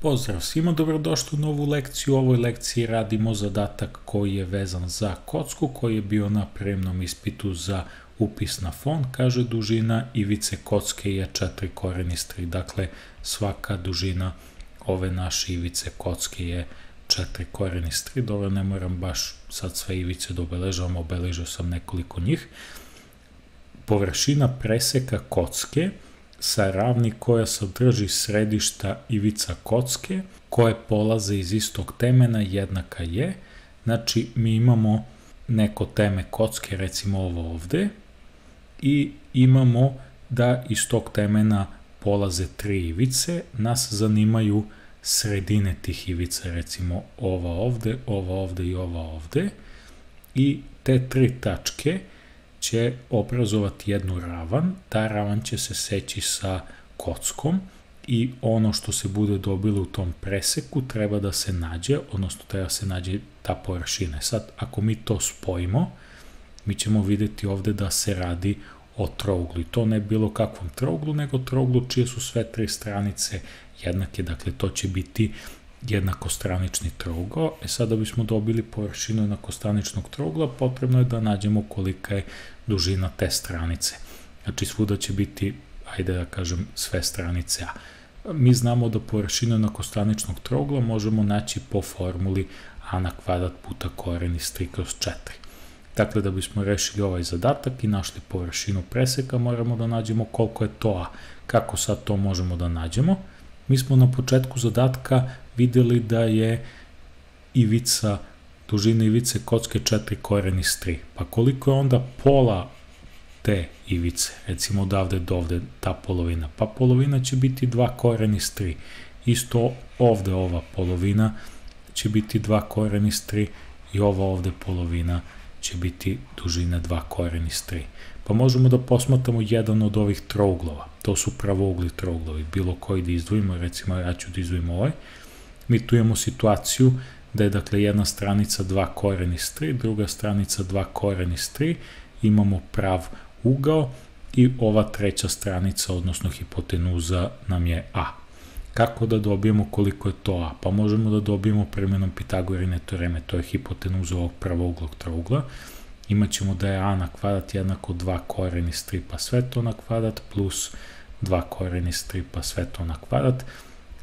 Pozdrav svima, dobrodošli u novu lekciju. U ovoj lekciji radimo zadatak koji je vezan za kocku, koji je bio na prijemnom ispitu za upis na fon. Kaže, dužina ivice kocke je 4 koren iz 3. Dakle, svaka dužina ove naše ivice kocke je 4 koren iz 3. Dobro, ne moram baš sad sve ivice da obeležavam, obeležao sam nekoliko njih. Površina preseka kocke sa ravni koja sadrži središta ivica kocke koje polaze iz istog temena jednaka je. Znači, mi imamo neko teme kocke, recimo ovo ovde, i imamo da iz tog temena polaze 3 ivice. Nas zanimaju sredine tih ivica, recimo ova ovde i ova ovde. I te 3 tačke će obrazovati jednu ravan, ta ravan će se seći sa kockom i ono što se bude dobilo u tom preseku treba da se nađe, odnosno treba da se nađe ta površina. Sad, ako mi to spojimo, mi ćemo videti ovde da se radi o trouglu i to ne bilo kakvom trouglu, nego trouglu čije su sve 3 stranice jednake, dakle to će biti jednakostranični trougao. Sad da bismo dobili površinu jednakostraničnog trougla, potrebno je da nađemo kolika je dužina te stranice. Znači svuda će biti, ajde da kažem, sve stranice A. Mi znamo da površinu jednakostraničnog trougla možemo naći po formuli a na kvadrat puta koren iz 3 kroz 4. Dakle, da bismo rešili ovaj zadatak i našli površinu preseka, moramo da nađemo koliko je to A. Kako sad to možemo da nađemo? Mi smo na početku zadatka videli da je dužina ivice kocke 4 koren iz 3. Pa koliko je onda pola te ivice, recimo odavde do ovde, ta polovina? Pa polovina će biti 2 koren iz 3. Isto ovde ova polovina će biti 2 koren iz 3 i ova ovde polovina će biti dužina 2 koren iz 3. Pa možemo da posmatramo jedan od ovih trouglova. To su pravougli trouglovi, bilo koji da izdvojimo, recimo ja ću da izdvojim ovaj. Mi tu imamo situaciju da je dakle jedna stranica 2 koren iz 3, druga stranica 2 koren iz 3, imamo prav ugao i ova treća stranica, odnosno hipotenuza nam je A. Kako da dobijemo koliko je to A? Pa možemo da dobijemo primenom Pitagorine teoreme, to je hipotenuza ovog pravouglog trougla. Imaćemo da je A na kvadrat jednako 2 koren iz 3 pa sve to na kvadrat plus 2 koren iz 3 pa sve to na kvadrat.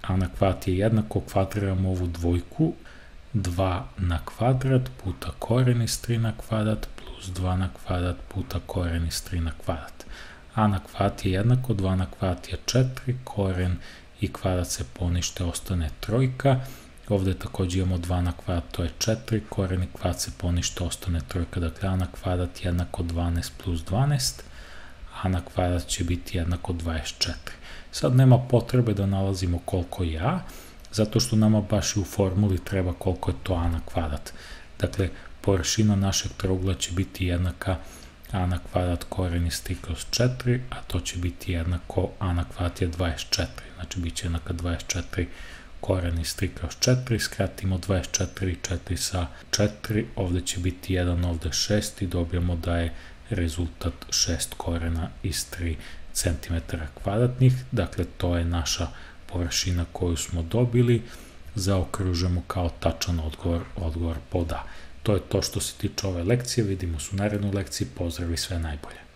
A na kvadrat je jednako, kvadriramo ovu dvojku, 2 na kvadrat puta koren iz 3 na kvadrat plus 2 na kvadrat puta koren iz 3 na kvadrat. A na kvadrat je jednako, 2 na kvadrat je 4, koren i kvadrat se ponište, ostane trojka. Ovde takođe imamo 2 na kvadrat, to je 4, koren i kvadrat se ponište, ostane trojka. Dakle, a na kvadrat jednako 12 plus 12, a na kvadrat će biti jednako 24. Sad nema potrebe da nalazimo koliko je A, zato što nama baš i u formuli treba koliko je to A na kvadrat. Dakle, površina našeg trougla će biti jednaka A na kvadrat koren iz 3 kroz 4, a to će biti jednako A na kvadrat je 24. Znači, bit će jednaka 24 koren iz 3 kroz 4, skratimo 24 i 4 sa 4, ovde će biti 1, ovde 6 i dobijamo da je rezultat 6 korena iz 3 cm kvadratnih. Dakle, to je naša površina koju smo dobili, zaokružujemo kao tačan odgovor pod A. To je to što se tiče ove lekcije, vidimo se u narednoj lekciji, pozdrav i sve najbolje.